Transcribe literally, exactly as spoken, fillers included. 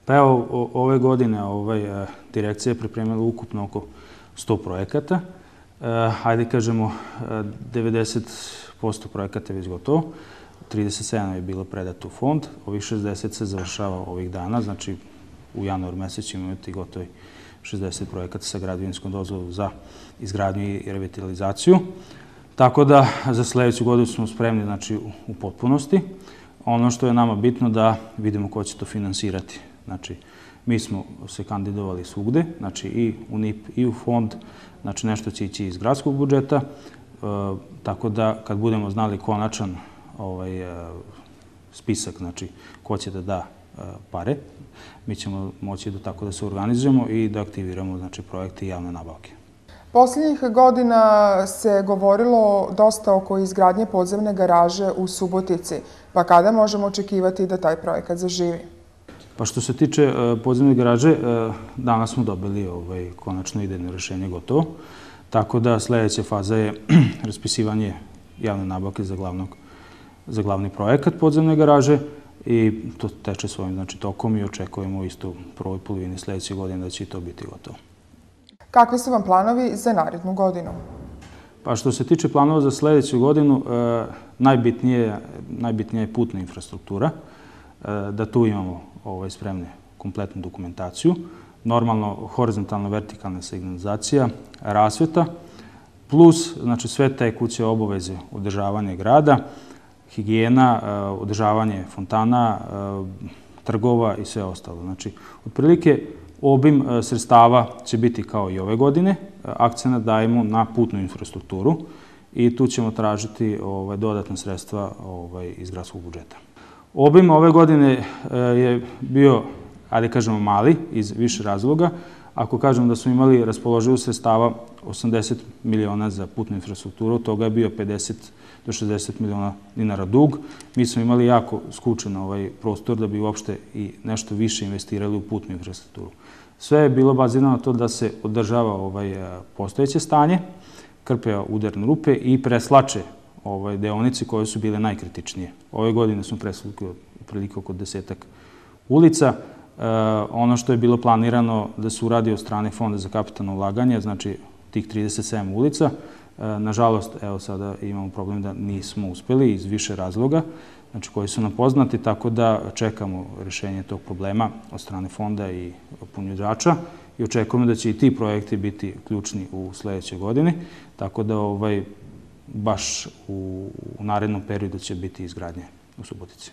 Pa evo, ove godine ovaj, direkcija je pripremila ukupno oko sto projekata. Hajde kažemo, devedeset posto projekata je već gotovo, trideset sedam je bilo predato u fond, ovih šezdeset se završava ovih dana, znači u januar mesec ćemo imati gotovi šezdeset projekata sa građevinskom dozvolom za izgradnju i revitalizaciju. Tako da za sledeću godinu smo spremni znači, u potpunosti. Ono što je nama bitno da vidimo ko će to finansirati. Znači, mi smo se kandidovali svugde, znači i u N I P i u fond, znači nešto će ići iz gradskog budžeta, tako da kad budemo znali konačan spisak, znači ko će da da pare, mi ćemo moći da tako da se organizujemo i da aktiviramo znači projekte i javne nabavke. Poslednjih godina se govorilo dosta oko izgradnje podzemne garaže u Subotici, pa kada možemo očekivati da taj projekat zaživi? Pa što se tiče podzemne garaže, danas smo dobili konačno idejno rešenje gotovo, tako da sledeća faza je raspisivanje javne nabavke za glavni projekat podzemne garaže i to teče svojim tokom i očekujemo isto u prvoj polovini sledeće godine da će i to biti gotovo. Kakvi su vam planovi za narednu godinu? Pa što se tiče planova za sledeću godinu, najbitnija je putna infrastruktura, da tu imamo spremne kompletnu dokumentaciju, normalno horizontalna vertikalna signalizacija, rasveta, plus sve tekuće obaveze održavanja grada, higijena, održavanje fontana, trgova i sve ostalo. Znači, otprilike obim sredstava će biti kao i ove godine, akcenat dajemo na putnu infrastrukturu i tu ćemo tražiti dodatna sredstva iz gradskog budžeta. Obim ove godine je bio, ajde kažemo, mali iz više razloga. Ako kažem da smo imali raspoloživo sredstava osamdeset miliona za putnu infrastrukturu, od toga je bio pedeset do šezdeset miliona dinara dug. Mi smo imali jako skučen prostor da bi uopšte i nešto više investirali u putnu infrastrukturu. Sve je bilo bazirano na to da se održava postojeće stanje, krpe udarne rupe i preslače deonice koje su bile najkritičnije. Ove godine smo preslukli otprilike oko desetak ulica. Ono što je bilo planirano da se uradi od strane Fonda za kapitalno ulaganje, znači tih trideset sedam ulica, nažalost, evo sada imamo problem da nismo uspeli iz više razloga, znači koji su nam poznati, tako da čekamo rešenje tog problema od strane fonda i ponuđača i očekujemo da će i ti projekti biti ključni u sledećoj godini, tako da baš u narednom periodu će biti izgradnje u Subotici.